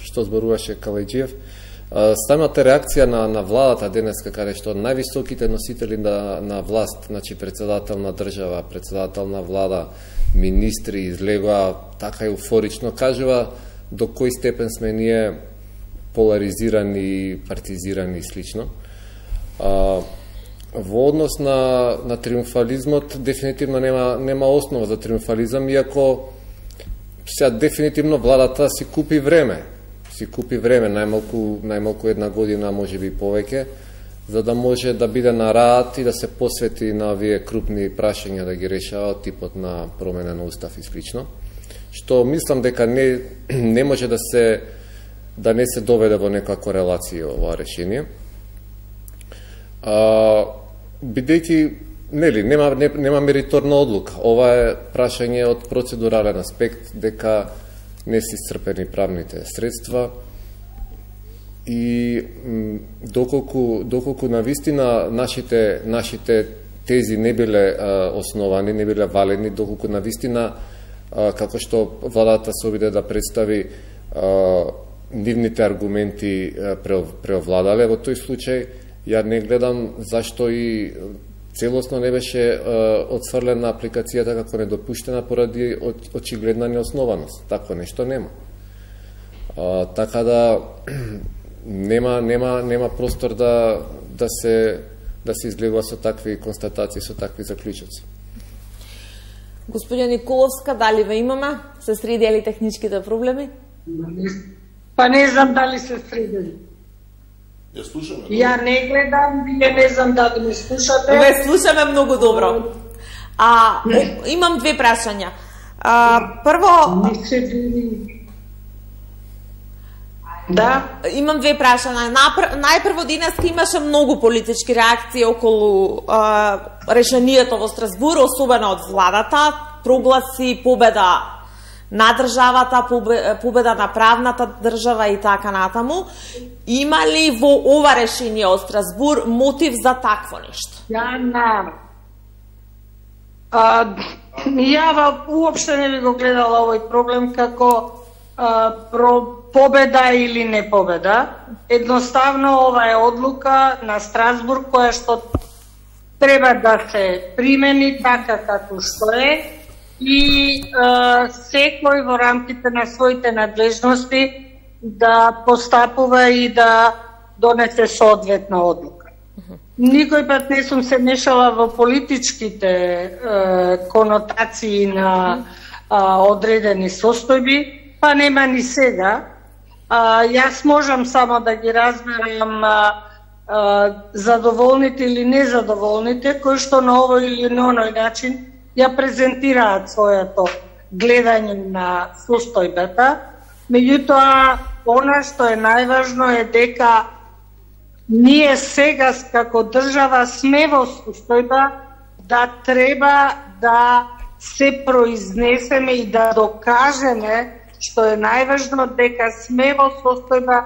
што зборуваше Калајџиев, самата реакција на на владата денеска, каде што највисоките носители на на власт, значи председател на држава, председател на влада, министри излегоа така еуфорично, кажува до кој степен сме ние поларизирани, партизирани и слично. А, во однос на, на триумфализмот, дефинитивно нема, нема основа за триумфализам, иако сега дефинитивно владата си купи време. Си купи време, најмалку, најмалку една година, може би повеќе, за да може да биде на рад и да се посвети на овие крупни прашања да ги решава од типот на промена на устав и слично. Што мислам дека не, не може да се да не се доведе во некоја корелација ова решение. А, бидејќи нели нема не, нема мериторна одлука. Ова е прашање од процедурален аспект, дека не се исцрпени правните средства и доколку доколку навистина нашите нашите тези не биле а, основани, не биле валени, доколку навистина а, како што владата се обиде да представи а, нивните аргументи преовладале во тој случај, ја не гледам зашто и целосно не беше отфрлена апликацијата како недопуштена поради очигледна неоснованост. Такво нешто нема. А, така да нема нема нема простор да да се да се излегува со такви констатации, со такви заклучоци. Господја Николовска, дали ве имаме? Се средили техничките проблеми? Па не знам дали се средили. Ја слушаме. Ја не гледам, вие не знам дали ме слушате. Ве слушаме многу добро. А, имам две прашања. А, прво... Не се били... Да? Имам две прашања. Најпрво денеска имаше многу политички реакции околу а, решението во Страсбур, особено од владата, прогласи победа на државата, победа на правната држава и така натаму. Има ли во ова решение од Страсбур мотив за такво нешто? Ја не. А, ја уопште не би го гледала овој проблем како а, про победа или не победа. Едноставно ова е одлука на Страсбур која што треба да се примени така како што е и а, секој во рамките на своите надлежности да постапува и да донесе соодветна одлука. Никој пат не сум се мешала во политичките е, конотации на а, одредени состојби, па нема ни сега. А, јас можам само да ги разберам а, а, задоволните или незадоволните, кои што на овој или на оној начин ја презентираат своето гледање на состојбата. Меѓутоа, она што е најважно е дека ние сега како држава сме во состојба да треба да се произнесеме и да докажеме, што е најважно, дека сме во состојба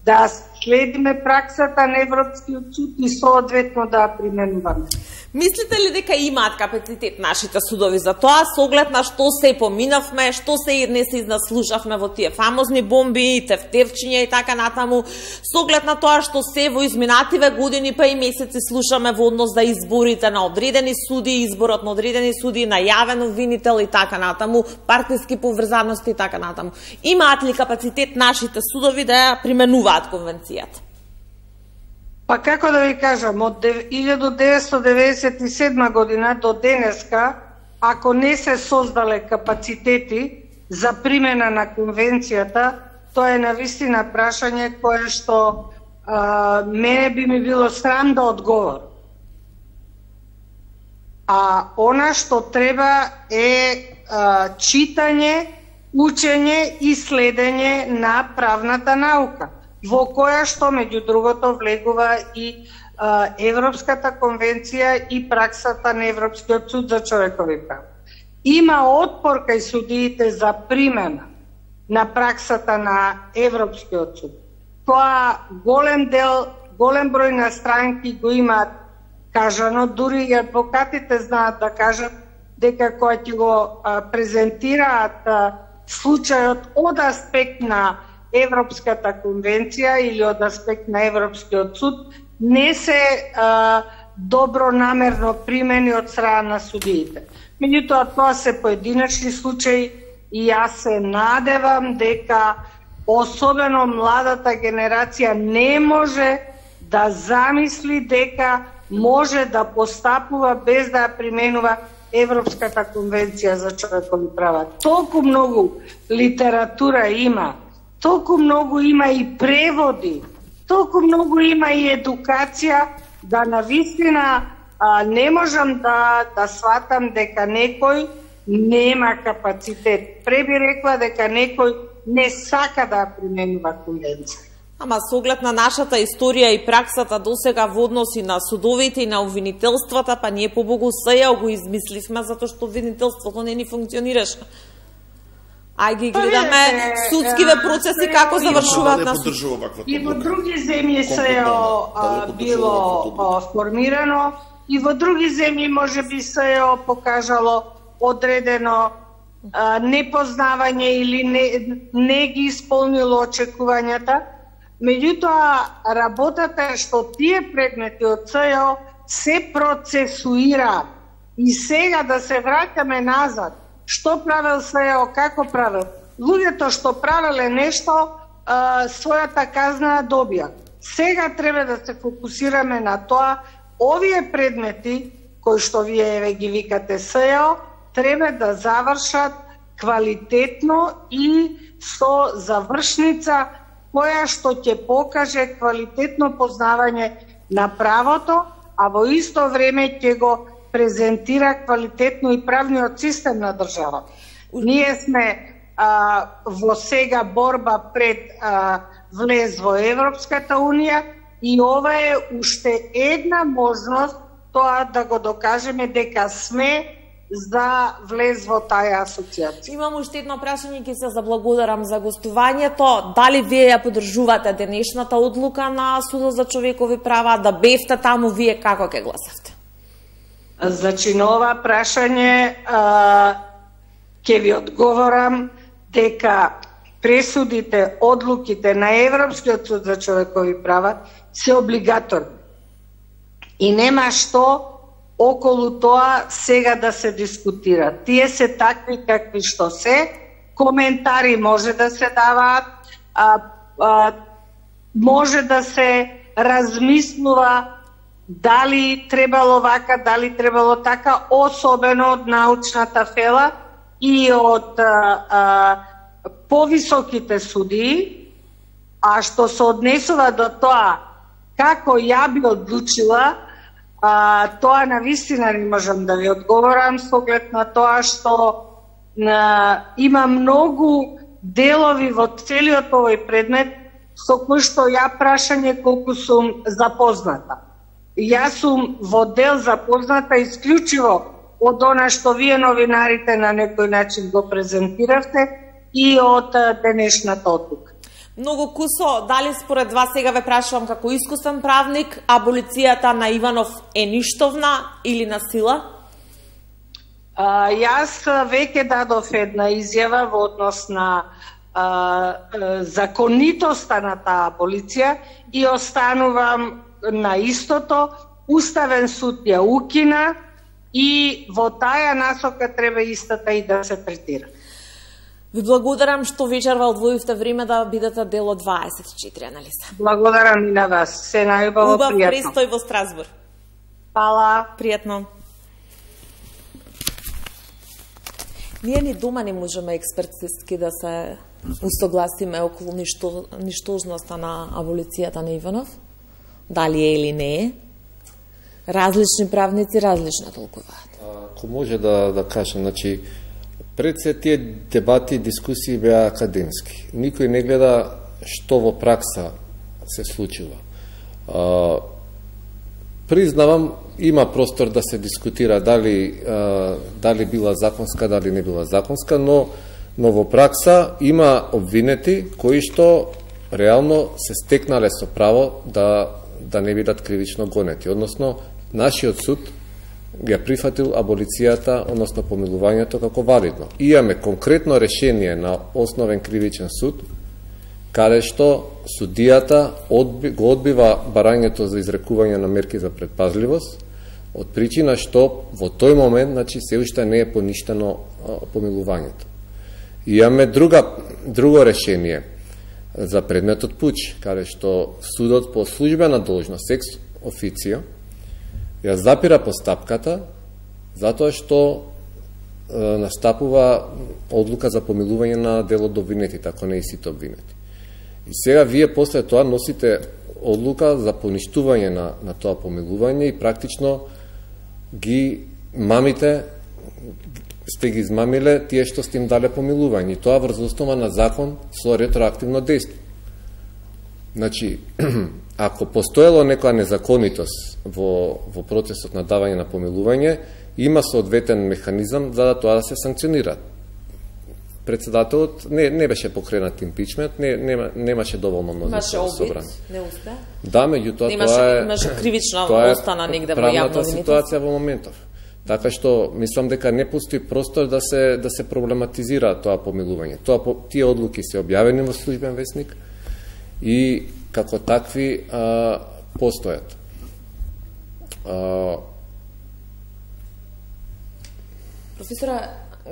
да следиме праксата на Европскиот суд и соодветно да ја применуваме. Мислите ли дека имаат капацитет нашите судови за тоа, со оглед на што се поминавме, што се не се изнаслушавме во тие фамозни бомби, тефтерчиња и така натаму, со оглед на тоа што се во изминативе години па и месеци слушаме во однос за изборите на одредени суди, изборот на одредени суди, најавен обвинител и така натаму, партиски поврзаности и така натаму. Имаат ли капацитет нашите судови да ја применуваат конвенцијата? Па како да ви кажам, од илјадум деветстотини деветдесет и седма година до денеска, ако не се создале капацитети за примена на конвенцијата, тоа е навистина прашање кое што а, мене би ми било срам да одговор. А она што треба е а, читање, учење и следење на правната наука, во која што, меѓу другото, влегува и а, Европската конвенција и праксата на Европскиот суд за човекови права. Има отпор кај судиите за примена на праксата на Европскиот суд. Тоа голем дел, голем број на странки го имаат кажано, дури и адвокатите знаат да кажат дека кога ќе го а, презентираат а, случајот од аспект на Европската конвенција или од аспект на Европскиот суд, не се а, добронамерно примени од страна на судиите. Меѓутоа, тоа се поединечни случаи и јас се надевам дека особено младата генерација не може да замисли дека може да постапува без да ја применува Европската конвенција за човекови права. Толку многу литература има, толку многу има и преводи, толку многу има и едукација, да навистина а, не можам да, да сватам дека некој нема капацитет. Пре би рекла дека некој не сака да применува конвенција. Ама со оглед на нашата историја и праксата досега во односи на судовите и на обвинителствата, па ние побогу сеја го измисливме затоа што обвинителството не ни функционираше. Ај ги гледаме судскиве процеси како завршуваат на суд. И во други земји се било формирано, и во други земји може би се покажало одредено непознавање или не, не ги исполнило очекувањата. Меѓутоа, работата е што тие предмети од СЈО се процесуира. И сега да се враќаме назад, што правел СЈО, како правел? Луѓето што правеле нешто, а, својата казна добија. Сега треба да се фокусираме на тоа, овие предмети, кои што вие ги викате СЈО, треба да завршат квалитетно и со завршница која што ќе покаже квалитетно познавање на правото, а во исто време ќе го презентира квалитетно и правниот систем на држава. Ние сме а, во сега борба пред а, влез во Европската Унија и ова е уште една можност тоа да го докажеме дека сме за влез во таа асоциација. Имам уште едно прашање, ќе се заблагодарам за гостувањето. Дали вие ја поддржувате денешната одлука на Судот за човекови права, да бевте таму, вие како ќе гласавте? Значи, на ова прашање а, ќе ви одговорам дека пресудите, одлуките на Европскиот суд за човекови права се облигаторни. И нема што околу тоа сега да се дискутира. Тие се такви какви што се, коментари може да се даваат, а, а, може да се размислува дали требало вака, дали требало така, особено од научната фела, и од а, а, повисоките судии, а што се однесува до тоа како ја би одлучила, а, тоа на вистина не можам да ви одговорам со оглед на тоа што а, има многу делови во целиот овој предмет со кои што ја прашање колку сум запозната. Јас сум во дел запозната исклучиво од она што вие новинарите на некој начин го презентиравте и од денешната одлука. Многу кусо, дали според вас, сега ве прашувам како искусен правник, аболицијата на Иванов е ништовна или на сила? А, јас веќе дадов една изјава во однос на а, а, законитоста на таа аболиција и останувам на истото. Уставен суд ја укина и во таа насока треба истата и да се третира. Ви благодарам што вечерва одвоивте време да бидете дел од дваесет и четири анализа. Благодарам и на вас. Се најубаво, Убав пријатно. престој во Страсбур. Фала. Пријатно. Ние ни дома не можеме експертистки да се устогласиме околу ништо, ништожноста на аболицијата на Иванов. Дали е или не е. Различни правници различно толкуваат. Ако може да, да кажам, значи, пред се тие дебати и дискусии беа академски. Никој не гледа што во пракса се случува. А, признавам, има простор да се дискутира дали, а, дали била законска, дали не била законска, но, но во пракса има обвинети кои што реално се стекнале со право да, да не бидат кривично гонети. Односно, нашиот суд ја прифатил аболицијата, односно помилувањето како валидно. Имаме конкретно решение на Основен кривичен суд, каде што судијата одби, го одбива барањето за изрекување на мерки за предпазливост, од причина што во тој момент, значи, се уште не е поништено а, помилувањето. Имаме друга, друго решение за предметот пуч, каде што судот по службена должност, екс официо, ја запира постапката, затоа што е, настапува одлука за помилување на дел од обвинетите, ако не и сите обвинети. И сега вие после тоа носите одлука за поништување на, на тоа помилување и практично ги мамите, сте ги измамиле тие што сте им дале помилување. И тоа врз основа на закон со ретроактивно дејство. Значи, ако постоело некоја незаконитост во, во процесот на давање на помилување, има соодветен механизам за да тоа да се санкционира. Председателот не, не беше покренат импичмент, не, нема, немаше доволно мнозинство во собрание. Не успе? Да, меѓутоа Немаше, тоа е имаше кривична тоа е остана негде во правната јавно ситуација во моментов. Така што мислам дека не постои простор да се да се проблематизира тоа помилување. Тоа тие одлуки се објавени во Службен весник и како такви а, постојат. А... Професора,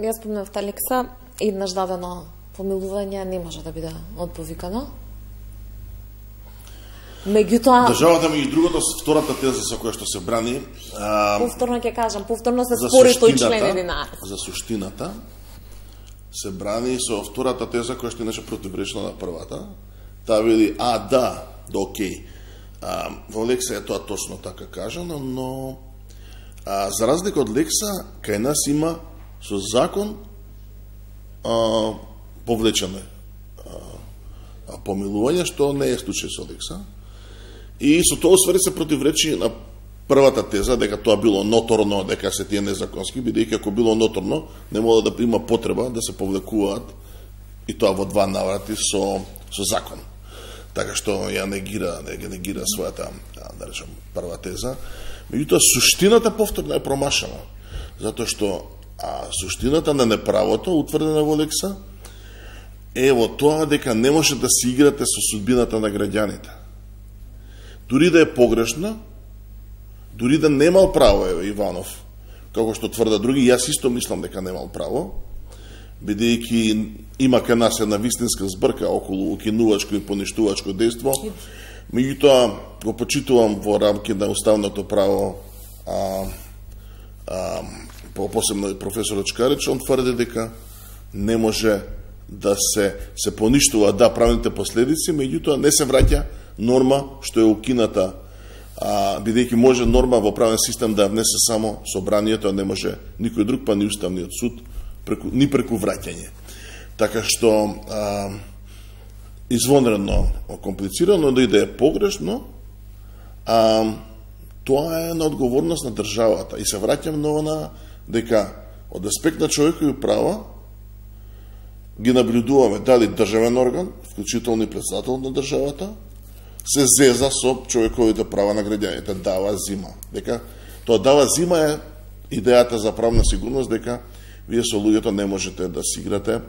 ја спомнавте Алекса, еднаш дадено помилување не може да биде одповикано. Меѓутоа, државата меѓу другото, втората теза со која што се брани, а, повторно ќе кажам, повторно се спори тој член единаесет. За суштината се брани со втората теза која што иначе противречна на првата. Таа вели, а, да, да, окей. А, во Лекса е тоа точно така кажано, но а, за разлика од Лекса, кај нас има со закон а, повлечене а, помилување, што не е случај со Лекса. И со тоа освари се противречи на првата теза, дека тоа било ноторно, дека се тие незаконски, бидејќи ако било ноторно, не може да има потреба да се повлекуваат и тоа во два наврати со, со закон. Така што ја негира, не негира својата, да речем, прва теза. Меѓутоа, суштината повторно е промашена. Затоа што а, суштината на неправото, утврдена во Лекса, е во тоа дека не може да се играте со судбината на граѓаните. Дури да е погрешна, дури да немал право, еве, Иванов, како што тврда други, јас исто мислам дека немал право, бидејќи има кај нас една вистинска збрка околу укинувачко и поништувачко дејство, меѓутоа го почитувам во рамки на уставното право а, а, посебно професорот Чкарич, он тврди дека не може да се се поништува да правните последици, меѓутоа не се враќа норма што е укината, а бидејќи може норма во правен систем да внесе само собранието, а не може никој друг, па ни уставниот суд, преку, ни преку враќање. Така што а, извонредно комплицирано, да и да е погрешно, а, тоа е на одговорност на државата. И се враќам ново на дека од аспект на човекови права ги наблюдуваме дали државен орган, вклучително и председател на државата, се зеза со човековите права на граѓаните, дава зима. Дека тоа дава зима е идејата за правна сигурност, дека вие со луѓето не можете да си играте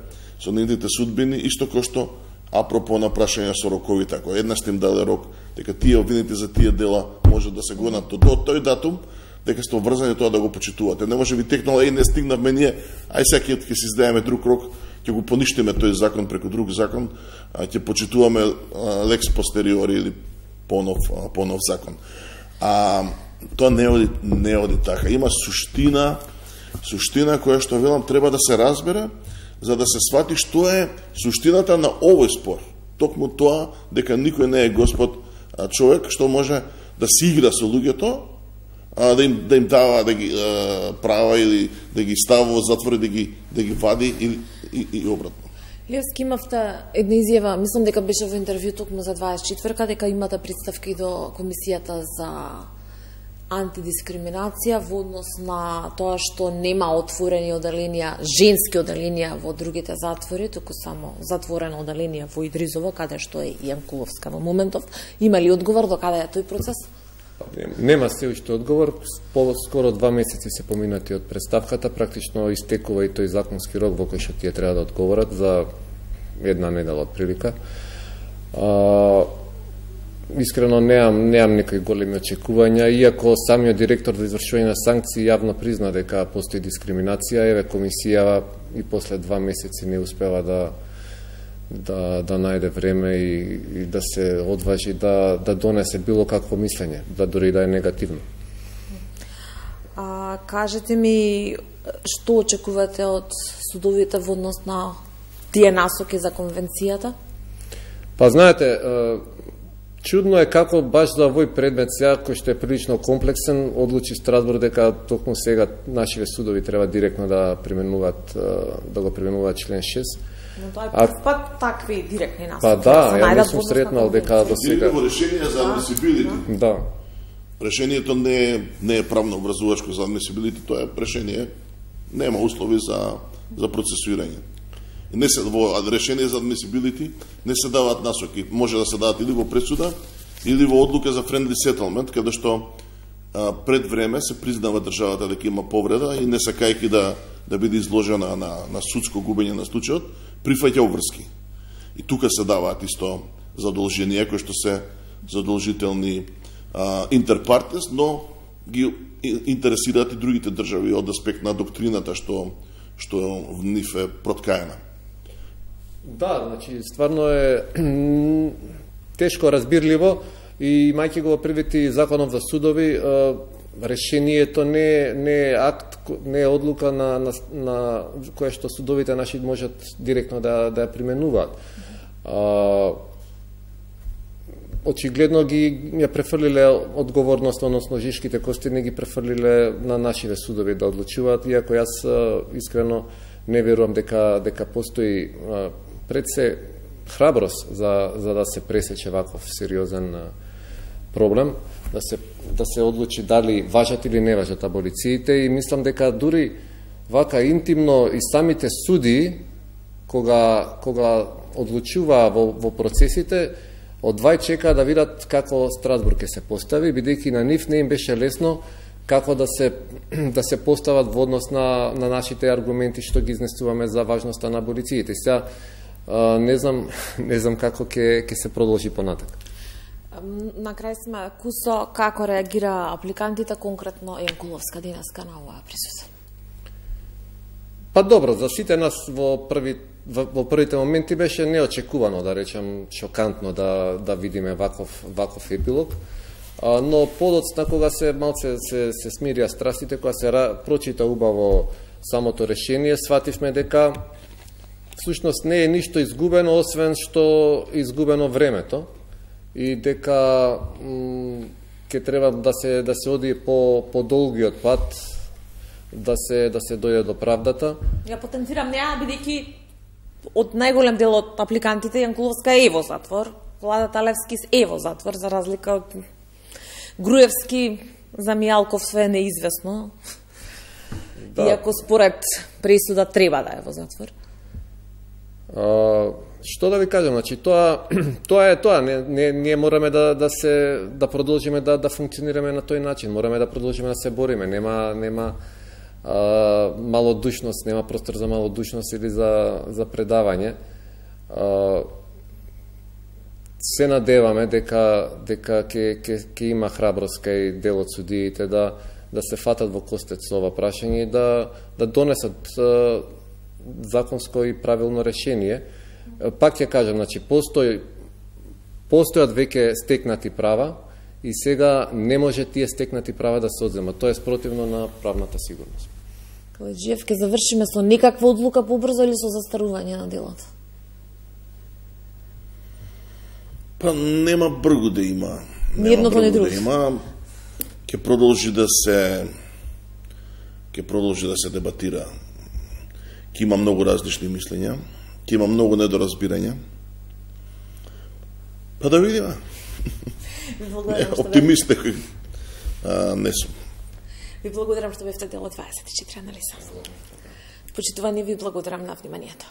со нивните судбини, исто кој што апропо на прашање со роковите, ако еднаш им даде рок, дека тие обвините за тие дела може да се гонат до тој датум, дека сте обврзани тоа да го почитувате. Не може би текнало, и не стигнавме ние, ај сега ќе си издаеме друг рок, ќе го поништиме тој закон преку друг закон, ќе почитуваме лекс постериори или понов, понов закон. А тоа не оди, не оди така. Има суштина, суштина која што велам треба да се разбере, за да се свати што е суштината на овој спор. Токму тоа дека никој не е господ човек што може да си игра со луѓето, да им, да им дава да ги а, права или да ги става во затвор, да ги, да ги вади или, и, и обратно. Левски, имавте една изјава, мислам дека беше во интервју токму за дваесет и четвртка, дека имате представки до Комисијата за антидискриминација во однос на тоа што нема отворени оделенија, женски оделенија во другите затвори, туку само затворена оделенија во Идризово, каде што е Јанкуловска во моментов. Има ли одговор до каде е тој процес? Нема се уште одговор, по скоро два месеци се поминати од представката, практично истекува и тој законски рок во кој што тие треба да одговорат за една недела од прилика. А, искрено неам неам некои големи очекувања, иако самиот директор за извршување на санкции јавно призна дека постои дискриминација, еве комисија и после два месеци не успева да да да најде време и, и да се одважи да да донесе било какво мислење, да дори да е негативно. А кажете ми што очекувате од судовите во однос на тие насоки за конвенцијата? Па знаете, чудно е како баш за овој предмет сега, кој што е прилично комплексен, одлучи Страсбург дека токму сега нашите судови треба директно да применуваат да го применуваат член шест. Но тоа е прв пат такви директни насоки. Па да, ја не сум сретнал дека до сега. Во решение за admissibility. Да. Решението не е не е правно образувачко за admissibility, тоа е решение, нема услови за за процесуирање. Не се во решение за admissibility не се даваат насоки, може да се дадат или во пресуда или во одлука за friendly settlement, каде што а, пред време се признава државата дека има повреда и не сакајќи да да биде изложена на на судско губење на случајот, прифаќа обврски. И тука се даваат исто задолженија кои што се задолжителни интерпартес, но ги интересираат и другите држави од аспект на доктрината што што в нив е проткаена. Да, значи стварно е тешко разбирливо и мајќи го привети законот за судови, решението не не е акт, не е одлука на на, на која што судовите наши можат директно да да ја применуваат. А, очигледно ги ја префрлиле одговорност, односно жишките кости не ги префрлиле на нашите судови да одлучуваат, иако јас искрено не верувам дека дека постои пред се храброст за за да се пресече ваков сериозен проблем, да се да се одлучи дали важат или не важат аболициите, и мислам дека дури вака интимно и самите суди кога кога одлучува во во процесите, одвај чека да видат како Страсбург ќе се постави, бидејќи на нив не им беше лесно како да се да се постават во однос на на нашите аргументи што ги изнесуваме за важноста на аболициите. Сега не знам не знам како ќе ќе се продолжи понатак. На крај сме, Кусо, како реагира апликантите, конкретно Јанкуловска денеска на оваа присуство? Па добро, за сите нас во први во првите моменти беше неочекувано, да речем, шокантно да да видиме ваков ваков епилог. А, но подоцна кога се малце се се смирија страстите, кога се прочита убаво самото решение, свативме дека всушност не е ништо изгубено, освен што изгубено времето и дека ќе треба да се да се оди по по долгиот пат, да се да се дојде до правдата. Ја потенцирам неа бидејќи од најголем дел од апликантите Јанкуловска е во затвор, Влада Талевски е во затвор за разлика од Груевски, за Мијалков све е неизвестно. Да. Иако според пресуда треба да е во затвор. А, што да ви кажам, значи тоа тоа е тоа, не, не ние мораме да да се да продолжиме да да функционираме на тој начин, мораме да продолжиме да се бориме, нема нема а, малодушност, нема простор за малодушност или за за предавање. А, се надеваме дека дека ќе ќе ќе има храброст кај дел од судиите да да се фатат во костец со ова прашање и да да донесат а, законско и правилно решение. Пак ќе кажам, значи постои постојат веќе стекнати права и сега не може тие стекнати права да се одземат. Тоа е спротивно на правната сигурност. Каледжиев, ќе завршиме со никаква одлука побрзо или со застарување на делото? Па нема бргу да има. Нирното не друго. Да има. Ќе продолжи да се ќе продолжи да се дебатира. Ќе има многу различни мислења, ќе има многу недоразбирања. Па да видиме. Оптимист некој не сум. Ви благодарам што бевте дел од дваесет и четири анализа. Почитувани, ви благодарам на вниманието.